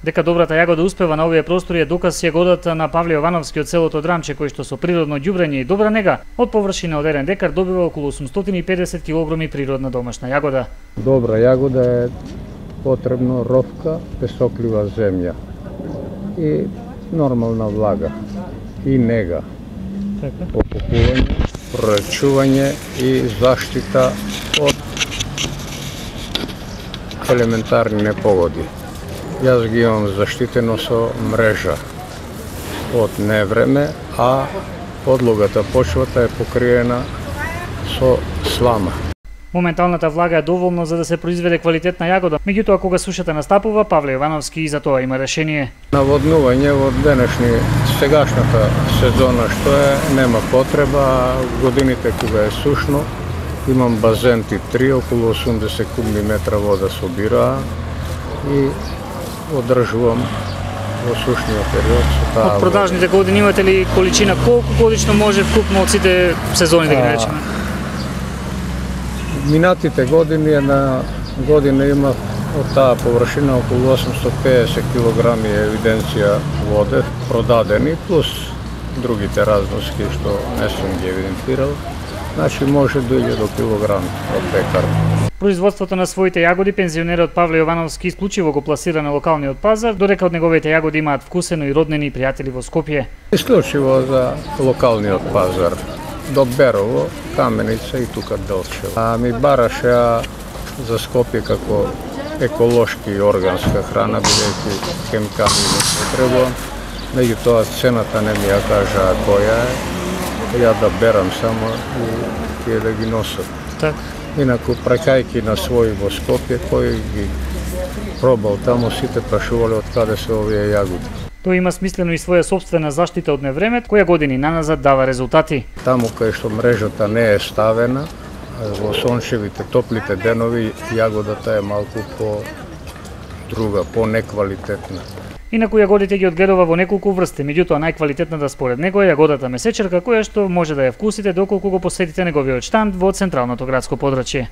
Дека добрата јагода успева на овие простори е доказ јагодата на Павле Јовановски од селото Драмче, кој што со природно ѓубрење и добра нега од површина од 1 декар добива околу 850 кг природна домашна јагода. Добра јагода е потребно ровка, песоклива земја и нормална влага и нега. Опукување, прорачување и заштита од елементарни непогоди. Јас ги имам заштитено со мрежа од невреме, а подлогата, почвата е покриена со слама. Моменталната влага е доволна за да се произведе квалитетна јагода, меѓутоа кога сушата настапува, Павле Јовановски и за тоа има решение. Наводнување во сегашната сезона што е, нема потреба, годините кога е сушно, имам базенти 3, околу 80 кубни метра вода собира и одржувам во сушниот период со таа. Од продажните години имате ли количина колку годишно може вкупно од сите сезони да ги наречеме? Минатите години една година имав од таа површина околу 850 кг евиденција воде продадени плюс другите разноски што не сум ги евидентирал. Значи може дојде до килограм од декар. Производството на своите јагоди пензионерот Павле Јовановски исклучиво го пласира на локалниот пазар, додека од неговите јагоди имаат вкусено и роднини и пријатели во Скопје. Исклучиво за локалниот пазар. До Берово, Каменица и тука Делчево. А ми бараше за Скопје како еколошки и органска храна, бидејќи хемикали не потребувам. Меѓутоа цената не ми ја кажаа која е. Ја да берам само и тие да ги носат. Так. Инаку, прекајки на свој во Скопје, кој ги пробал таму, сите прашувале од каде се овие јагоди. Тој има смислено и своја собствена заштита од невремет, која години наназад дава резултати. Таму кај што мрежата не е ставена, во сончевите, топлите денови, јагодата е малку по друга, по неквалитетна. Инаку јагодите ги одгледува во неколку врсти, меѓутоа најквалитетната според него е јагодата месечерка, која што може да ја вкусите доколку го посетите неговиот штанд во централното градско подрачје.